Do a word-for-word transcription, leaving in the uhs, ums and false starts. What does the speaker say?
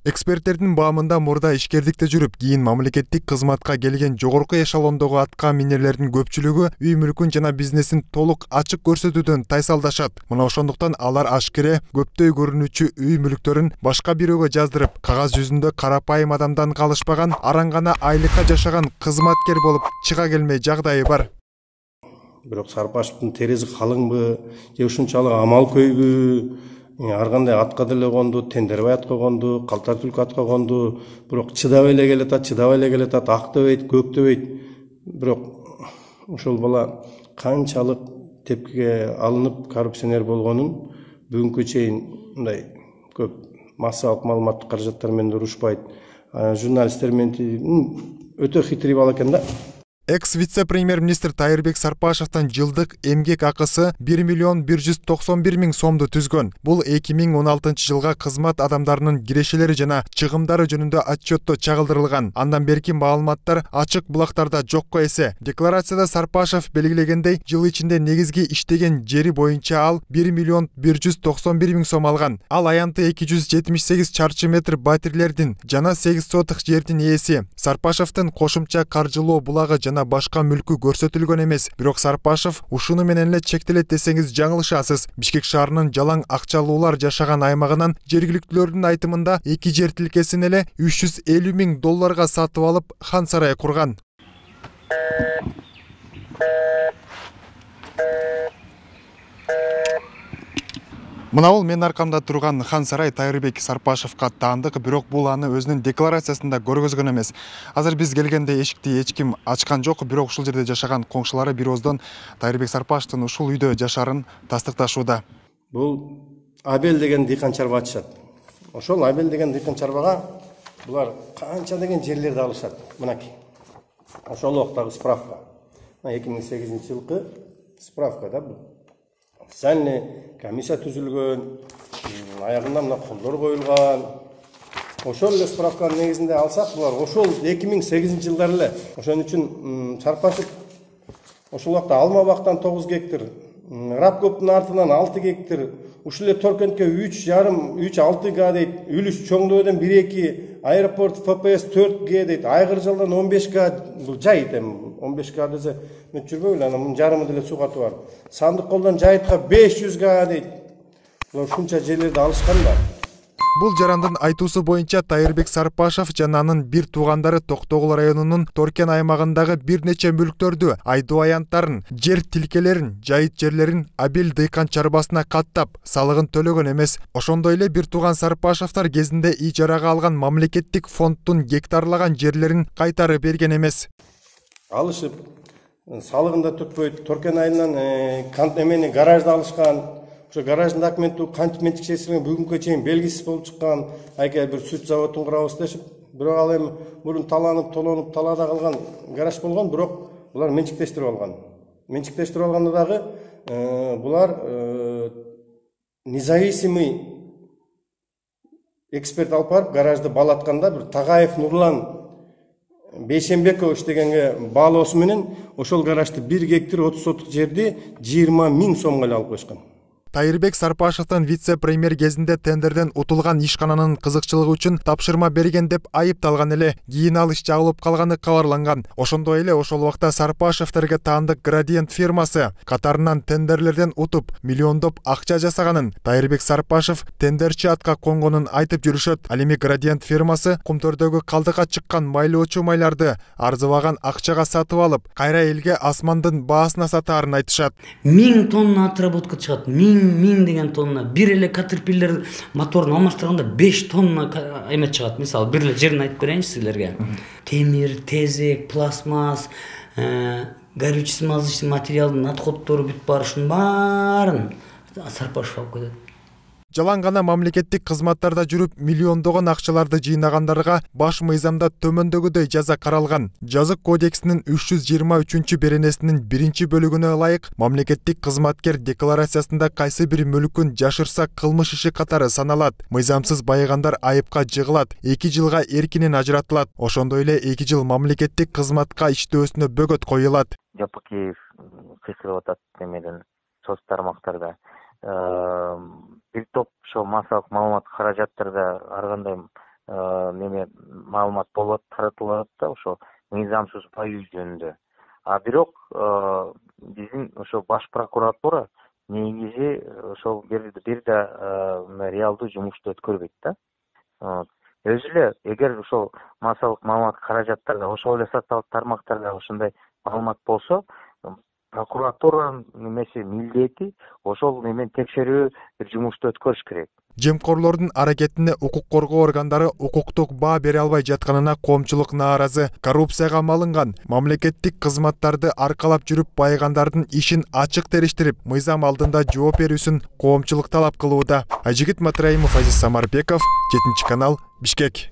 Эксперттердин баамында мурда ишкердикте жүрүп, кийин мамлекеттик кызматка келген жогорку эшелондогу атка минерлердин көпчүлүгү үй мүлкүн жана бизнесин толук ачык көрсөтүүдөн тайсалдашат. Мына ошондуктан алар ашкере көптөй көрүнүүчү үй мүлктөрүн башка бирөөгө жаздырып, кагаз жүзүндө карапайым адамдан калышпаган, араң гана айлыкка жашаган кызматкер болуп чыга келмей жагдайы бар. Бирок Сарпашевдин тереси калыңбы, же ушунчалык амал көйбү? Ар кандай атка деле конду, Тендербай атка конду, Калтар түлкү атка конду, бирок чыдабай эле келатат, чыдабай эле келатат, ак дебейт, көк дебейт. Бирок ошол бала канчалык тепкиге алынып, коррупционер болгонун бүгүнкү чейин мындай көп массалык маалыматтык каражаттар менен урушпайт. Журналисттер менен өтө хитрый бала экен да. Экс-вице-премьер-министр Тайырбек Сарпашевдин жылдык эмгек акысы бир миллион бир жүз токсон бир миң сомду түзгөн. Бул эки миң он алтынчы жылга кызмат адамдарынын кирешелери жана чыгымдары жөнүндө отчетто чагылдырылган. Андан берки маалыматтар ачык булактарда жокко эсе. Декларацияда Сарпашев белгилегендей, жыл ичинде негизги иштеген жери боюнча ал бир миллион бир жүз токсон бир миң сом алган. Ал аянты эки жүз жетимиш сегиз чарчы метр батирлердин жана сегиз сотых жердин ээси. Сарпашевдин кошумча каржылоо булагы жана башка мүлкү көрсөтүлгөн эмес. Бирок Сарпашев ушуну менен эле чектелет десеңиз жаңылышасыз. Бишкек шаарынын жалаң акчалуулар жашаган аймагынан жергиликтүүлөрдүн айтымында эки жер тилкесин эле үч жүз элүү миң долларга сатып алып, хан сарай курган. Мына бул менин аркамда турган хан сарай Тайырбек Сарпашевга таандык, бирок бул аны өзүнүн декларациясында көргөзгөн эмес. Азыр биз келгенде эшикти эч ким ачкан жок, бирок ушул жерде жашаган коңшулары бир ооздон Тайырбек Сарпашевдин ушул үйдө жашаарын тастыкташууда. Бул Абел деген дыйкан чарба ачышат. Ошол Абел деген дыйкан чарбага булар канча деген жерлерди алышат. Мынакей. Ошол убактагы справка. эки миң сегизинчи жылкы справка да бул. Специальный комиссия түзүлгөн, аягында мына колдор коюлган. Ошол эле справканын негизинде алсак, булар ошол эки миң сегизинчи жылдар эле. Ошон үчүн Сарпашев ошол убакта алма бактан тогуз гектар, Рапкоптун артынан алты гектар, ушул эле Торкентке үч жарым, үч алты га дейт, Үлүс Чоңдоодон бир эки, аэропорт эф пэ эс төрт гэ дейт, Айгыржалдан он беш га, бул жайыт эми он беш га десе мен жүрбөйлү, анан мунун жарымы деле суу катып бар. Сандык колдон жайытка беш жүз га дейт. Булар ушунча жерлерди алышкан да. Бул жарандын айтуусу боюнча Тайырбек Сарпашев жана анын бир туугандары Токтогул районунун Торкен аймагындагы бир нече мүлктөрдү, айдоо аянттарын, жер тилкелерин, жайыт жерлерин Абел дыйкан чарбасына каттап, салыгын төлөгөн эмес. Ошондой эле бир тууган Сарпашевдер кезинде ижарага алган мамлекеттик фонддун гектарлаган жерлерин кайтарып берген эмес. Алышып, салыгын да төкпөйт, Торкен айынан эмени гаражды алышкан. Ошо гараждын документи кантип менчикчесине бүгүнкү чейин белгисиз болуп чыккан. Айка бир сүт заводун курабыз дешип, бирок ал эми мурун таланып, толонуп, талаада калган гараж болгон, бирок булар менчиктештирип алган. Менчиктештирип алганда дагы булар независимый эксперт алып барып гаражды балатканда бир Тагаев Нурлан Бейшембекович дегенге баалоосу менен ошол гаражды бир гектар отуз сотук жерди жыйырма миң сомго эле алып коюшкан. Тайырбек Сарпашевдин вице-премьер кезинде тендерден утулган ишкананын кызыкчылыгы үчүн тапшырма берген деп айыпталган эле. Кийин ал иш жабылып калганы кабарланган. Ошондой эле ошол убакта Сарпашевдерге таандык Градиент фирмасы катарынан тендерлерден утуп, миллиондоп акча жасаганын, Тайырбек Сарпашев тендерчи атка конгонун айтып жүрүшөт. Ал эми Градиент фирмасы Кумтөрдөгү калдыкка чыккан майлоочу майларды арзыбаган акчага сатып алып, кайра элге асмандын баасына сатаарын айтышат. миң тонна отработка чыгат, миң миң деген тонна. Бир эле Caterpillar моторун алмаштырганда беш тонна эмет чыгат. Мисалы, бир эле жерин айтып берейинчи силерге. Темир, тезек, пластмасс, горючий смазочный материалдын отходдору бүт бар, ушунун баарын Сарпашев алып кетет. Жалаң гана мамлекеттик кызматтарда жүрүп, миллиондогон акчаларды жыйнагандарга баш мыйзамда төмөндөгүдөй жаза каралган. Жазык кодексинин үч жүз жыйырма үчүнчү беренесинин биринчи бөлүгүнө ылайык, мамлекеттик кызматкер декларациясында кайсы бир мүлкүн жашырса кылмыш иши катары саналат. Мыйзамсыз байыгандар айыпка жыгылат, эки жылга эркинен ажыратылат. Ошондой эле эки жыл мамлекеттик кызматка иштөөсүнө бөгөт коюлат. Жапакиев кесип атат эмеден соц тармактарда. Бир топ ошо массалык маалымат каражаттарда ар кандай неме маалымат болот, таратылат да ошо мыйзамсыз баюу жөнүндө. А бирок биздин ошо баш прокуратура негизи ошол бир бир да реалдуу жумушту өткөрбөйт да. Өзү эле эгер ошол массалык маалымат каражаттарда ошол эле социалдык тармактарда ошондой маалымат болсо, прокуратуранын немеси милдети ошол немен текшерүү бир жумушту өткөрүш керек. Жемкорлордун аракетине укук коргоо органдары укуктук баа бере албай жатканына коомчулук нааразы. Коррупцияга малынган, мамлекеттик кызматтарды аркалап жүрүп байыгандардын ишин ачык териштирип, мыйзам алдында жооп берүүсүн коомчулук талап кылууда. Айжигит Матраимов, Азиз Самарбеков, жетинчи канал, Бишкек.